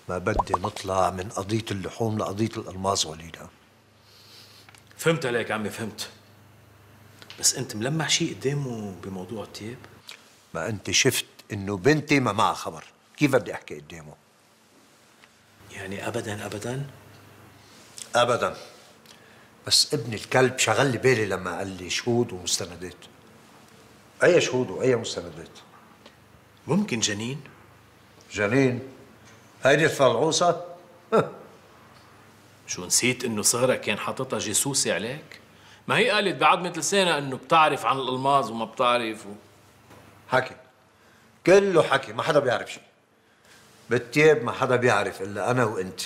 ما بدي نطلع من قضية اللحوم لقضية الألماس وليدة. فهمت عليك عمي، فهمت. بس انت ملمح شيء قدامه بموضوع التياب؟ ما أنت شفت إنه بنتي ما معها خبر، كيف بدي أحكي قدامه؟ يعني أبداً أبداً؟ أبداً. بس ابن الكلب شغل لي بالي لما قال لي شهود ومستندات. أي شهود وأي مستندات؟ ممكن جنين؟ جنين؟ هيدي الفلعوصة؟ شو نسيت إنه سارة كان حاططها جاسوسة عليك؟ ما هي قالت بعضمة لسانها إنه بتعرف عن الألماظ وما بتعرف حكي، كله حكي، ما حدا بيعرف شيء. بالتياب ما حدا بيعرف إلا أنا وأنت،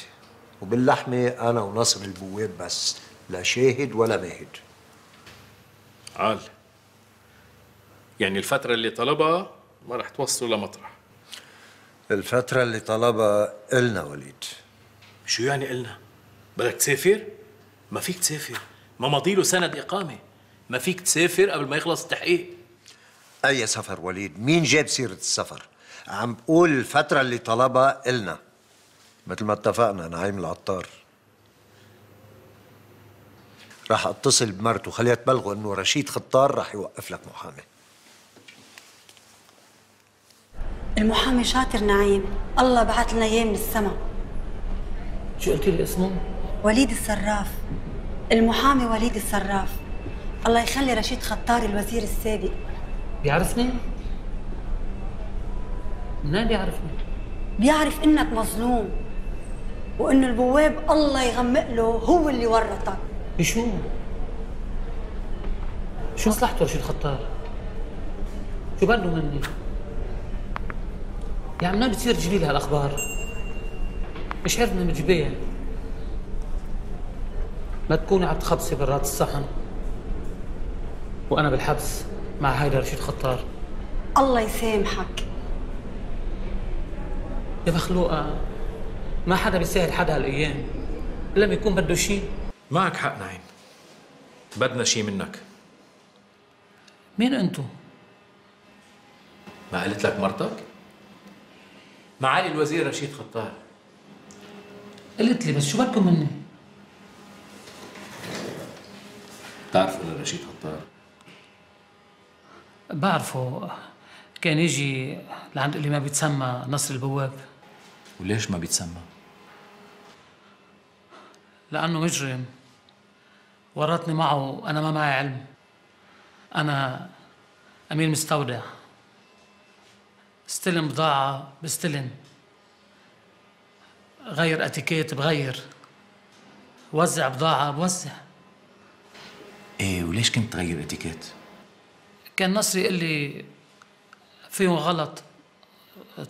وباللحمة أنا وناصر البواب بس، لا شاهد ولا ماهد. عال، يعني الفترة اللي طلبها ما رح توصله لمطرح. الفترة اللي طلبها إلنا وليد. شو يعني إلنا؟ بدك تسافر؟ ما فيك تسافر، ما مضيله سند إقامة، ما فيك تسافر قبل ما يخلص التحقيق. أي سفر وليد؟ مين جاب سيرة السفر؟ عم بقول الفترة اللي طلبها إلنا، مثل ما اتفقنا نعيم العطار. راح اتصل بمرته خليها تبلغه انه رشيد خطار راح يوقف لك محامي. المحامي شاطر نعيم، الله بعث لنا اياه من السما. شو قلتي لي اسمه؟ وليد الصراف، المحامي وليد الصراف. الله يخلي رشيد خطار الوزير السابق. بيعرفني؟ منين بيعرفني؟ بيعرف انك مظلوم وانه البواب الله يغمق له هو اللي ورطك. بشو؟ شو مصلحته رشيد خطار؟ شو بده مني؟ يا عم منين بتصير تجيبي لي هالاخبار؟ مش عرفنا مجبيه ما تكوني عم تخبصي برات الصحن وانا بالحبس مع هيدا رشيد خطار. الله يسامحك يا مخلوقه، ما حدا بيساعد حدا هالايام الا لما يكون بده شيء. معك حق نعيم، بدنا شيء منك. مين انتو؟ ما قالت لك مرتك؟ معالي الوزير رشيد خطار. قلت لي بس شو بدكم مني؟ بتعرفوا رشيد خطار؟ بعرفه، كان يجي لعند اللي ما بيتسمى نصر البواب. وليش ما بيتسمى؟ لأنه مجرم ورطني معه وأنا ما معي علم. أنا أمين مستودع، استلم بضاعة بستلم، غير اتيكيت بغير، وزع بضاعة بوزع. ايه وليش كنت تغير اتيكيت؟ كان نصري يقول لي فيهم غلط،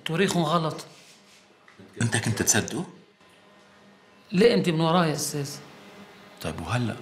تواريخهم غلط. انت كنت تصدقه؟ ليه انت من وراي يا استاذ؟ طيب وهلا